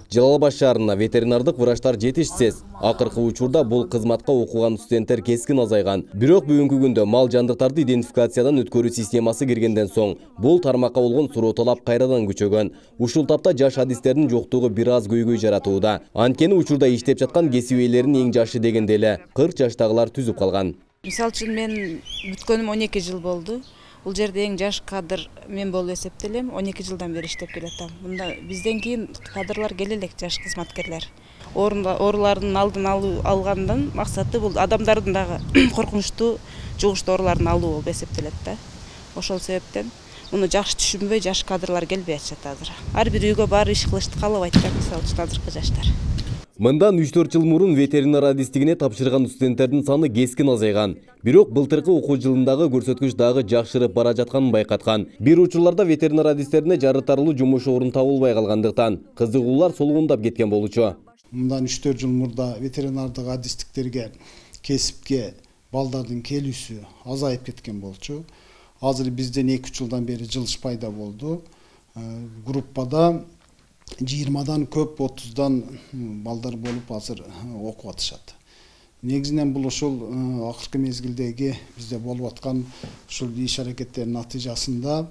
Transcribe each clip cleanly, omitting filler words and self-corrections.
Жалал Абад шаарына ветеринардык врачтар жетишсиз. Акыркы учурда бул кызматка окуган студенттер кескин азайган. Бирок бүгүнкү күндө мал жандыктарды идентификациядан өткөрүү системасы киргенден соң бул тармакка болгон суроо талап кайрадан күчөгөн. Ушул тапта жаш адистердин жоктугу бир аз көйгөй жаратууда. Анткени учурда иштеп жаткан кесип ээлеринин эң жашы дегенде эле 40 жаштагылар түзүп калган. Мисалы үчүн мен бүткөнүм 12 жыл болду. Бул жерде эң жаш кадр мен болуп эсептелем. 12 жылдан бери иштеп келатам. Мында бизден кийин кадрлар келе элек, жаш кызматкерлер. Оорулардын алдын алгандан максаты бул адамдардын дагы коркунучтуу жугуштуу ооруларын алуу болуп эсептелет да. Ошол себептен муну жакшы түшүнбөй жаш кадрлар келбей атышат азыр. Ар бир үйгө барып иш кылышты каалабайт да, мисалы үчүн азыркы жаштар. Мындан 3-4 жыл мурун ветеринар адистигине тапшырган студенттердин саны кескин азайган. Бирок былтыркы окуу жылындагы көрсөткүч дагы жакшырып бара жатканын байкаткан. Бир учурларда ветеринар адистерине жарытарлуу жумуш орун табылбай калгандыктан кызыгуулар солгундап кеткен болчу. Мындан 3-4 жыл мурда ветеринардык адистиктерге кесипке балдардын келүүсү азайып кеткен болчу. Азыр бизден 2-3 жылдан бери жылыш пайда болду. Группада 20-дан көп 30-дан балдар болуп азыр окуп атышат. Негизинен бул ошол акыркы мезгилдеги бизде болуп аткан ушул иш аракеттердин натыйжасында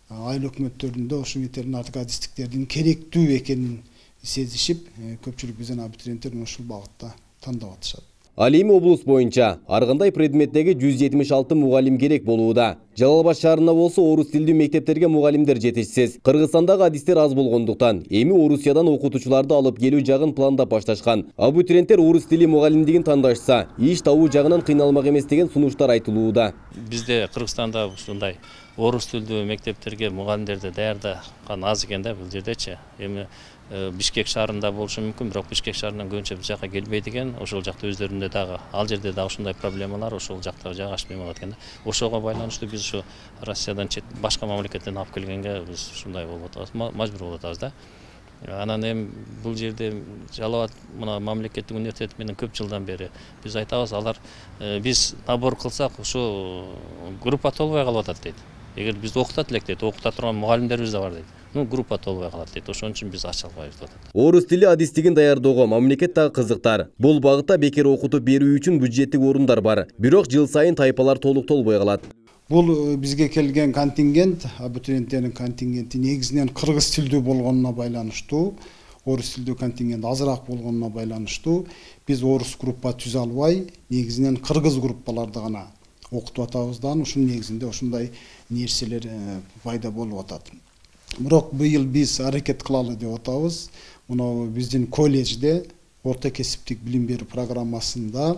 айыл өкмөттөрүндө ошол ветеринардык адистиктердин керектүү экенин сезишип, көпчүлүк бизден абитуриенттер ушул багытта тандап атышат. Ал эми облус боюнча ар кандай предметтеги 176 мугалим керек болууда. Жалал Абад шаарында болсо орус тилдүү мектептерге мугалимдер жетишсиз. Кыргызстандагы адистер аз болгондуктан эми Орусиядан окутуучуларды алып келүү жагын пландап башташкан. Абитуриенттер орус тили мугалимдигин тандашса, иш табуу жагынан кыйналмак эмес деген сунуштар айтылууда. Бизде Кыргызстанда ушундай орус тилдүү мектептерге мугалимдерди даярдаган аз экен да бул жердечи. Эми Бишкек шаарында болушу мүмкүн, бирок Бишкек шаарынан көбүнчө биз жака келбейт экен. Ошол жакта өздөрүндө дагы ал жерде дагы ушундай проблемалар, ошол жакта жайгашпай калат экен да. Ошого байланыштуу биз ушу Россиядан башка мамлекеттен алып келгенге биз ушундай болуп атабыз, мажбур болуп атабыз да. Анан эми бул жерде Жалал Абад мына мамлекеттик университет менен көп жылдан бери биз айтабыз, алар биз набор кылсак ушу группа толбой калып атат дейт. Эгер биз окутат элек дейт, окута турган мугалимдерибиз да бар дейт. Группа толбой калат дейт. Ошон үчүн биз ача албайбыз деп атат. Орус тили адистигин даярдоого мамлекет дагы кызыктар. Бул багытта бекер окутуп берүү үчүн бюджеттик орундар бар. Бирок жыл сайын тайпалар толук толбой калат. Бул бизге келген контингент, абитуриенттердин контингенти негизинен кыргыз тилдүү болгонуна байланыштуу, орус тилдүү контингент азыраак болгонуна байланыштуу биз орус группа түзө албай, негизинен кыргыз группаларды гана окутуп атабыз да, ушунун негизинде ушундай нерселер пайда болуп атат. Бирок быйыл биз аракет кылалы деп атабыз. Мына биздин колледжде орто кесиптик билим берүү программасында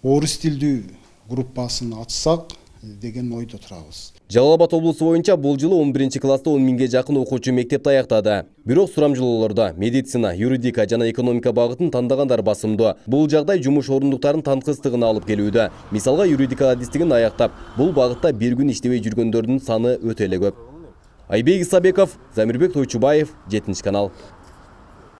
орус тилдүү группасын ачсак деген ойдо турабыз. Жалал Абад облусу боюнча бул жылы 11-класста 10 миңге жакын окуучу мектепти аяктады. Бирок сурамжылоолордо медицина, юридика жана экономика багытын тандагандар басымдуу. Бул жагдай жумуш орундуктарынын танкыстыгына алып келүүдө. Мисалга юридика адистигин аяктап, бул багытта бир күн иштебей жүргөндөрдүн саны өтө эле көп. Айбек Исабеков, Замирбек Тойчубаев, 7 канал.